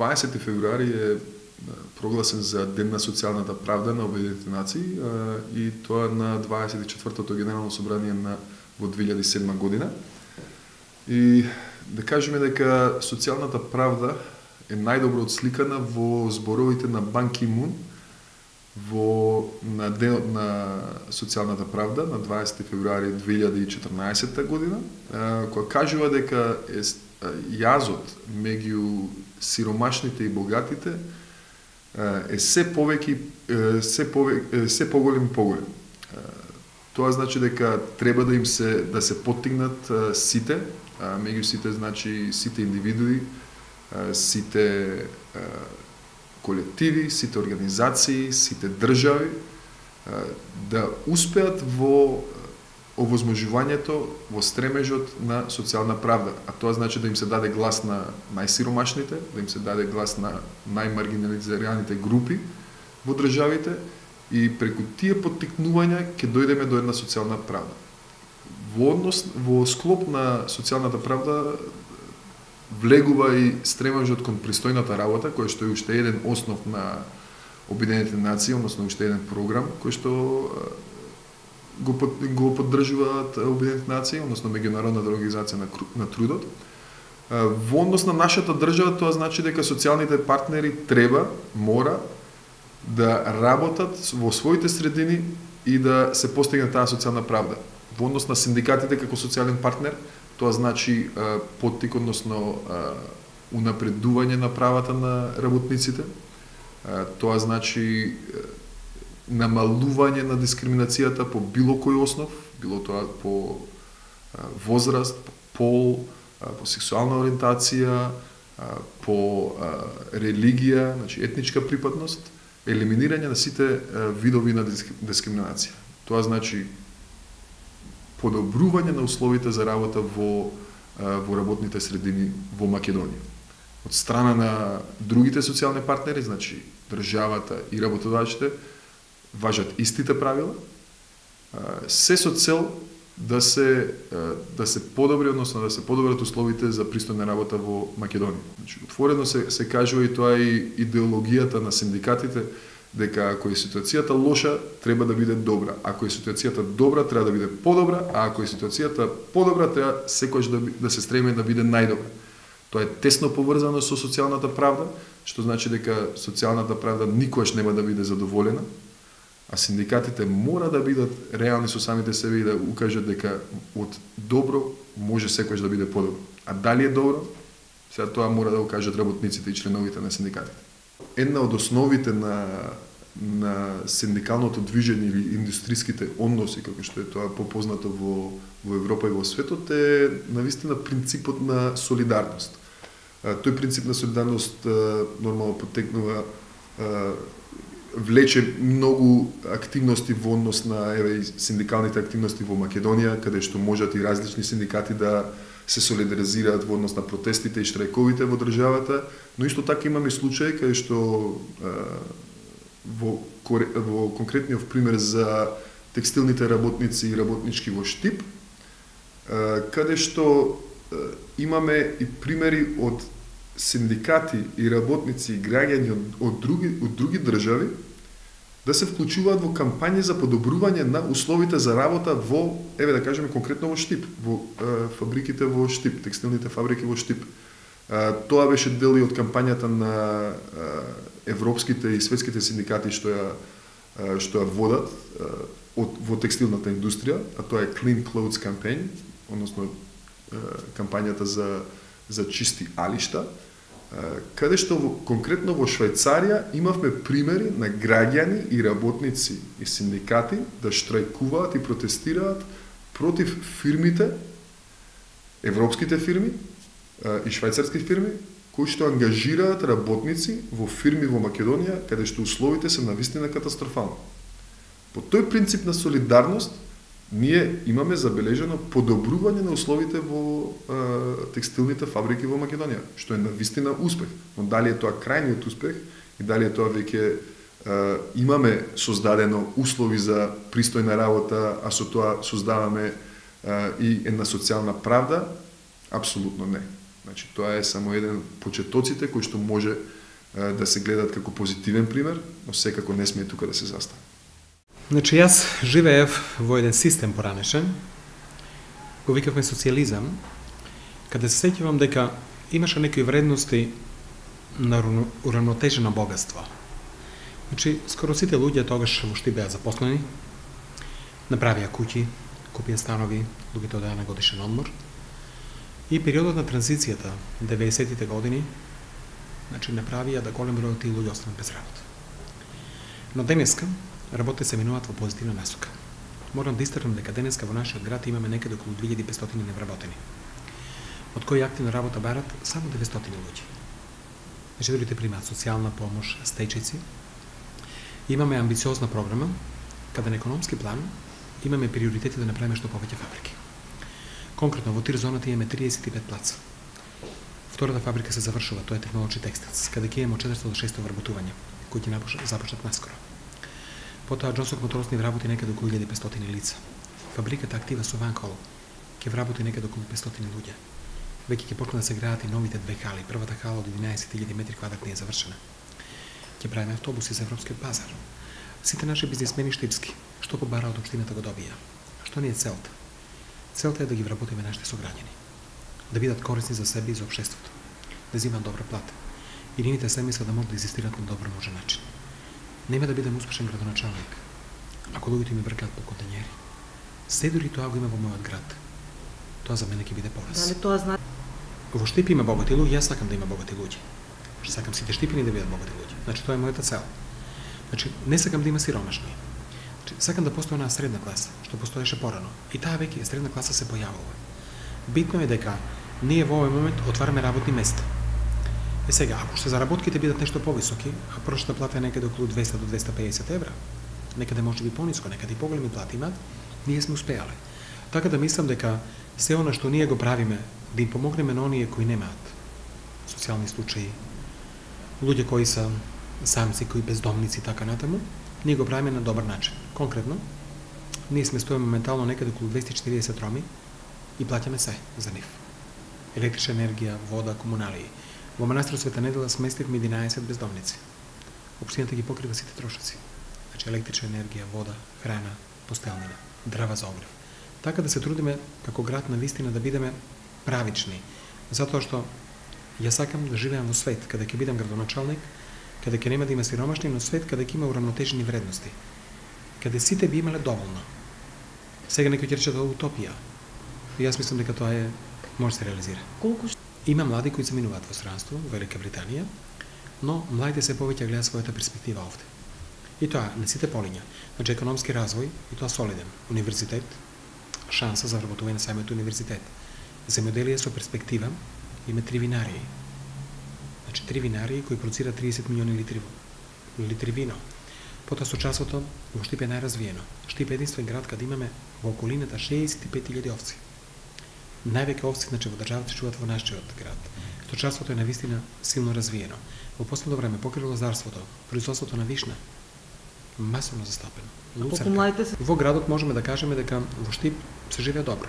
20 февруари е прогласен за Ден на социјалната правда на Обединетите нации и тоа на 24-тото Генерално собрание во 2007 година. И да кажеме дека социјалната правда е најдобро отсликана во зборовите на Бан Ки Мун на Денот на социјалната правда на 20 февруари 2014 година, која кажува дека јазот меѓу сиромашните и богатите е се поголем и поголем. Тоа значи дека треба да се поттигнат сите, меѓу сите значи сите индивидуи, сите колективи, сите организации, сите држави да успеат во овозможувањето, во стремежот на социјална правда. А тоа значи да им се даде глас на најсиромашните, да им се даде глас на најмаргинализираните групи во државите и преку тие поттикнувања ќе дојдеме до една социјална правда. Во склоп на социјалната правда влегува и стремежот кон пристојната работа, кој што е уште еден основ на Обединетите нации, односно уште еден програм кој што го поддржуваат Обединетите нации, односно Меѓународната организација на трудот. Во однос на нашата држава тоа значи дека социјалните партнери мора да работат во своите средини и да се постигне таа социјална правда. Во однос на синдикатите како социјален партнер, тоа значи поттик, односно унапредување на правата на работниците. Тоа значи намалување на дискриминацијата по било кој основ, било тоа по возраст, по пол, по сексуална ориентација, по религија, значи етничка припадност, елиминирање на сите видови на дискриминација. Тоа значи подобрување на условите за работа во работните средини во Македонија. Од страна на другите социјални партнери, значи државата и работодавците, важат истите правила, се со цел да се подобри, односно да се подобрат условите за пристојна работа во Македонија. Значи, отворено се кажува и тоа и идеологијата на синдикатите, дека ако е ситуацијата лоша, треба да биде добра. Ако е ситуацијата добра, треба да биде подобра, а ако е ситуацијата подобра, треба секогаш да се стреме да биде најдобра. Тоа е тесно поврзано со социјалната правда, што значи дека социјалната правда никогаш нема да биде задоволена, а синдикатите мора да бидат реални со самите себе и да укажат дека од добро може секогаш да биде подобро. А дали е добро, сега тоа мора да го кажат работниците и членовите на синдикатите. Една од основите на синдикалното движење или индустриските односи, како што е тоа попознато во Европа и во светот, е навистина принципот на солидарност. Тој принцип на солидарност нормално поттекнува влече многу активности во однос на синдикалните активности во Македонија, каде што можат и различни синдикати да се солидаризираат во однос на протестите и штрајковите во државата, но исто така имаме случаи каде што во конкретниот пример за текстилните работници и работнички во Штип, каде што имаме и примери од синдикати и работници и граѓани од други држави да се вклучуваат во кампањи за подобрување на условите за работа во, да кажеме конкретно во Штип, во фабриките во Штип, текстилните фабрики во Штип. Тоа беше дел и од кампањата на европските и светските синдикати што ја водат во текстилната индустрија, а тоа е Clean Clothes Campaign, односно кампањата за чисти алишта, каде што конкретно во Швајцарија имавме примери на граѓани и работници и синдикати да штрајкуваат и протестираат против фирмите, европските фирми и швајцарски фирми, кои што ангажираат работници во фирми во Македонија, каде што условите се навистина катастрофални. По тој принцип на солидарност, ние имаме забележено подобрување на условите во текстилните фабрики во Македонија, што е навистина успех. Но дали е тоа крајниот успех и дали е тоа веќе имаме создадено услови за пристојна работа, а со тоа создаваме и една социјална правда, апсолутно не. Значи, тоа е само еден почетоците кои што може да се гледат како позитивен пример, но секако не сме тука да се застане. Значи, јас живеев во еден систем поранешен, го викавме социјализам, каде се сеќавам дека имаше некои вредности на уравнотежено богатство. Значи, скоро сите луѓе тогаш во Штип беа запослени, направија куќи, купија станови, луѓето одеа на годишен одмор. И периодот на транзицијата, 90-тите години, значи направија да голем број од тие луѓе останат без работа. Но денеска работите се минуваат во позитивна насока. Морам да истакнам дека денеска во нашиот град имаме некаде околу 2500 невработени, од кои активна работа барат само 900 луѓе. Значи, другите примаат социјална помош, стечици. Имаме амбициозна програма, каде на економски план имаме приоритети да направиме што повеќе фабрики. Конкретно, во тир зоната имаме 35 плаца. Втората фабрика се завршува, тоа е технолошки текстилс, каде ќе имаме 400 до 600 вработувања, кои ќе започнат наскоро. Потоа Джонсок моторосни вработи некаде околу 1500 лица. Фабриката актива со Ванкол ќе вработи некаде околу 500 луѓе. Веќе ќе почнат да се градат и новите две хали. Првата хала од 11.000 метри квадратни е завршена. Ќе правиме автобуси за европскиот пазар. Сите наши бизнисмени штипски, што побара од општината го добија. Што ни е целта? Целта е да ги вработиме нашите сограѓани, да бидат корисни за себе и за општеството, да земат добра плата. И нивните семејства да можат да екзистираат на добро можен начин. Нема да бидам успешен градоначалник ако луѓето ми бркаат по контењери. Се дури тоа го има во мојот град. Тоа за мене ќе биде пораз. Дали тоа значи? Во Штип има богати луѓе, јас сакам да има богати луѓе. Сакам сите штипини да бидат богати луѓе. Значи тоа е мојата цел. Значи не сакам да има сиромашни. Значи сакам да постои една средна класа, што постоеше порано. И таа веќе средна класа се појавува. Битно е дека ние во овој момент отвараме работни места. Е сега, ако што заработките бидат нешто повисоки, а прошната плата е некаде околу 200 до 250 евра, некаде може би пониско, некаде и поголеми плати имаат, ние сме успеале. Така да мислам дека се она што ние го правиме, да им помогнеме на оние кои немаат социјални случаи, луѓе кои се самци, кои бездомници, така натаму, ние го правиме на добар начин. Конкретно, ние сме стоиме моментално некаде околу 240 роми и плаќаме се за нив. Електрична енергија, вода, комуналии. Во манастирот Света Недела сместивме 11 бездомници. Општината ги покрива сите трошоци. Значи електрична енергија, вода, храна, постелнина, дрва за огрев. Така да се трудиме како град на вистина да бидеме правични. Затоа што ја сакам да живеам во свет каде ќе бидам градоначалник, каде ќе нема да има сиромашни, но свет каде ќе има уравнотежени вредности. Каде сите би имале доволно. Сега некој ќе рече тоа утопија. И јас мислам дека тоа може да се реализира. Колку Има млади кои се минуваат во странство, во Велика Британија, но младите се повеќе гледаат својата перспектива овде. И тоа на сите полиња. Значи економски развој, и тоа солиден. Универзитет, шанса за вработување на самиот универзитет. Земјоделие со перспектива, има 3 винарии. Значи 3 винарии кои продуцираат 30 милиони литри вино. Потоа сочувството во Штип е најразвиено. Штип е единствен град каде имаме во околината 65.000 овци. Највеќе овци, значи, во државата се чуваат во нашиот град. Сточарството е навистина силно развиено. Во последно време покри лозарството, производството на вишна масовно застапено. Во градот можеме да кажеме дека во Штип се живее добро.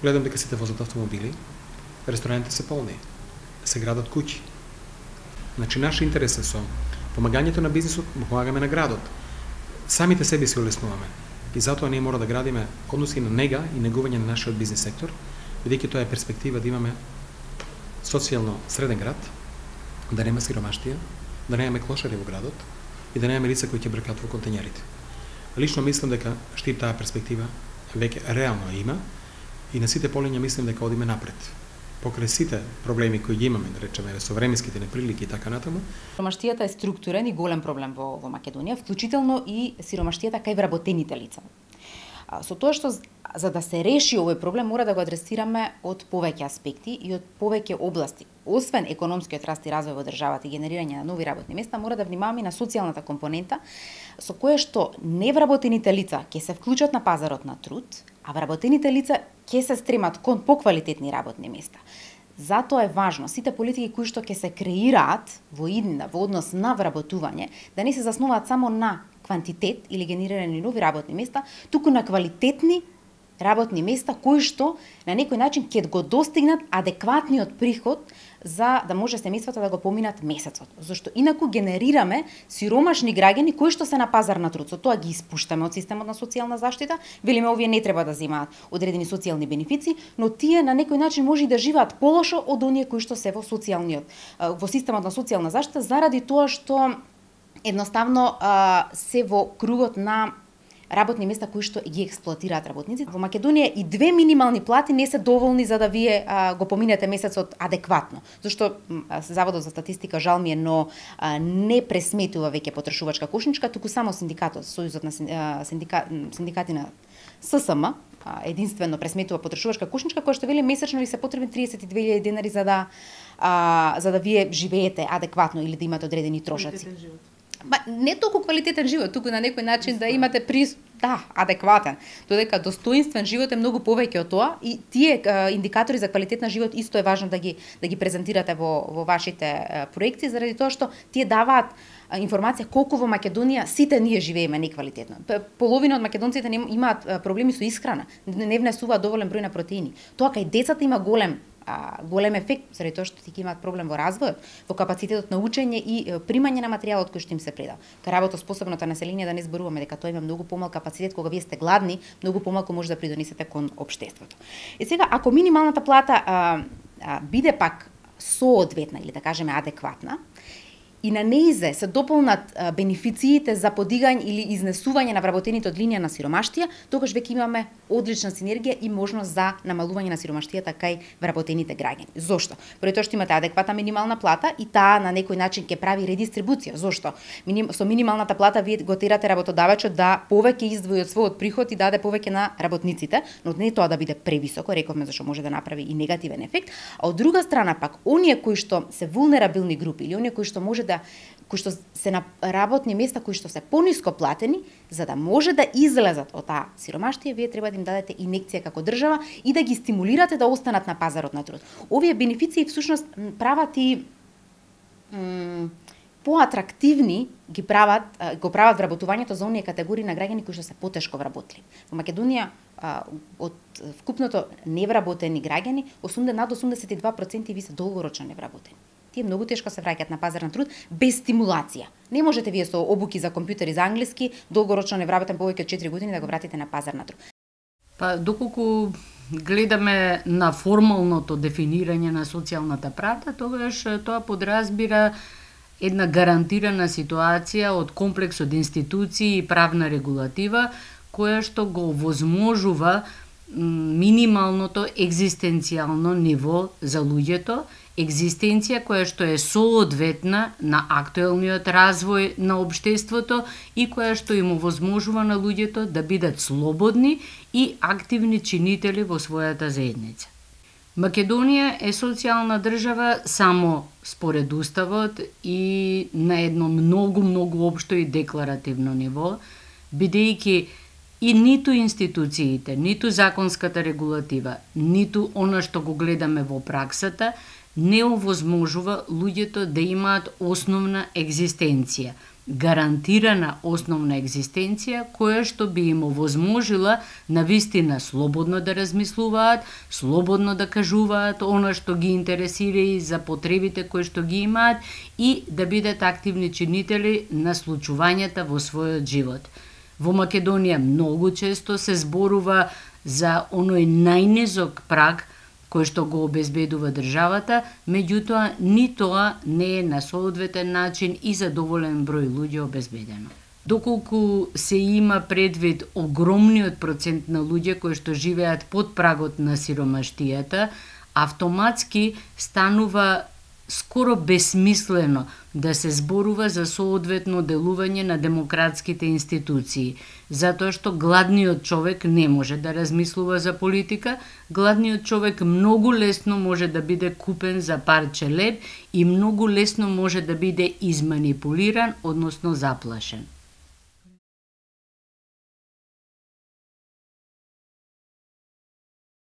Гледам дека сите возат автомобили, ресторантите се полни, се градат куќи. Значи наш интерес е со помагањето на бизнисот, помагаме на градот. Самите себе си олеснуваме. И затоа ние мора да градиме односи на нега и негување на нашиот бизнис сектор, бидејќи тоа е перспектива да имаме социјално среден град, да нема сиромаштија, да немаме клошари во градот и да немаме лица кои ќе бркаат во контењерите. Лично мислам дека Штип таа перспектива веќе реално има и на сите полиња мислам дека одиме напред. Покрај сите проблеми кои ги имаме, да речеме, со временските неприлики и така натаму. Сиромаштијата е структурен и голем проблем во Македонија, вклучително и сиромаштијата кај вработените лица. Со тоа што за да се реши овој проблем мора да го адресираме од повеќе аспекти и од повеќе области. Освен економскиот раст и развој во државата и генерирање на нови работни места, мора да внимаваме и на социјалната компонента со која што невработените лица ќе се вклучат на пазарот на труд, а вработените лица ќе се стремат кон поквалитетни работни места. Затоа е важно сите политики кои што ќе се креираат во иднина во однос на вработување да не се заснуваат само на квантитет или генерирање нови работни места, туку на квалитетни работни места кои што на некој начин ќе го достигнат адекватниот приход за да може семејствата да го поминат месецот. Зашто инаку генерираме сиромашни граѓани кои што се на пазар на труд. Со тоа ги испуштаме од системот на социјална заштита, велиме овие не треба да земаат одредени социјални бенефиции, но тие на некој начин може и да живеат полошо од оние кои што се во системот на социјална заштита заради тоа што едноставно се во кругот на работни места кои што ги експлоатираат работниците. Во Македонија и 2 минимални плати не се доволни за да вие го поминете месецот адекватно. Зашто Заводот за статистика, жал ми е, но не пресметува веќе потрошувачка кошничка, туку само синдикатот, Сојузот на синдикати на ССМ единствено пресметува потрошувачка кошничка која што вели месечно ви се потребни 32.000 денари за да вие живеете адекватно или да имате одредени трошоци. Не толку квалитетен живот, туку на некој начин да имате адекватен. Додека достоинствен живот е многу повеќе од тоа и тие индикатори за квалитет на живот исто е важно да ги презентирате во вашите проекти, заради тоа што тие даваат информација колку во Македонија сите ние живееме неквалитетно. Половина од македонците имаат проблеми со исхрана, не внесуваат доволен број на протеини. Тоа кај децата има голем ефект, заради тоа што ти имаат проблем во развојот, во капацитетот на учење и примање на материјалот кој што им се предава. Кај работоспособното население да не зборуваме дека тоа има многу помал капацитет, кога вие сте гладни, многу помалку може да придонесете кон општеството. И сега, ако минималната плата биде пак соодветна или да кажеме адекватна, и на неизе се дополнат бенефициите за подигање или изнесување на вработените од линија на сиромаштија, тогаш веќе имаме одлична синергија и можност за намалување на сиромаштијата кај вработените граѓани. Зошто? Прво тоа што имате адекватна минимална плата и таа на некој начин ќе прави редистрибуција. Зошто? Со минималната плата вие го терате работодавачот да повеќе издвои од својот приход и даде повеќе на работниците, но не тоа да биде превисоко, рековме зашто може да направи и негативен ефект, а од друга страна пак оние кои што се вулнерабилни групи или оние кои што кои што се на работни места кои што се пониско платени, за да може да излезат од таа сиромаштија, вие треба да им дадете инекција како држава и да ги стимулирате да останат на пазарот на труд. Овие бенефиции всушност прават и поатрактивни го прават вработувањето за оние категории на граѓани кои што се потешко вработливи. Во Македонија од вкупното невработени граѓани, над 82% ви се долгорочно невработени. Тие многу тешко се враќаат на пазар на труд без стимулација. Не можете вие со обуки за компјутери за англиски долгорочно невработен повеќе од 4 години да го вратите на пазар на труд. Па доколку гледаме на формалното дефинирање на социјалната правда, тогаш тоа подразбира една гарантирана ситуација од комплекс од институции и правна регулатива која што го возможува минималното екзистенцијално ниво за луѓето, екзистенција која што е соодветна на актуелниот развој на општеството и која што им овозможува на луѓето да бидат слободни и активни чинители во својата заедница. Македонија е социјална држава само според уставот и на едно многу општо и декларативно ниво, бидејќи и ниту институциите, ниту законската регулатива, ниту она што го гледаме во праксата, не овозможува луѓето да имаат основна екзистенција, гарантирана основна екзистенција која што би им овозможила навистина слободно да размислуваат, слободно да кажуваат она што ги интересира и за потребите кои што ги имаат и да бидат активни чинители на случувањата во својот живот. Во Македонија многу често се зборува за оној најнизок праг кој што го обезбедува државата, меѓутоа ни тоа не е на соодветен начин и за доволен број луѓе обезбедено. Доколку се има предвид огромниот процент на луѓе кои што живеат под прагот на сиромаштијата, автоматски станува скоро бесмислено да се зборува за соодветно делување на демократските институции, затоа што гладниот човек не може да размислува за политика, гладниот човек многу лесно може да биде купен за парче леб и многу лесно може да биде изманипулиран, односно заплашен.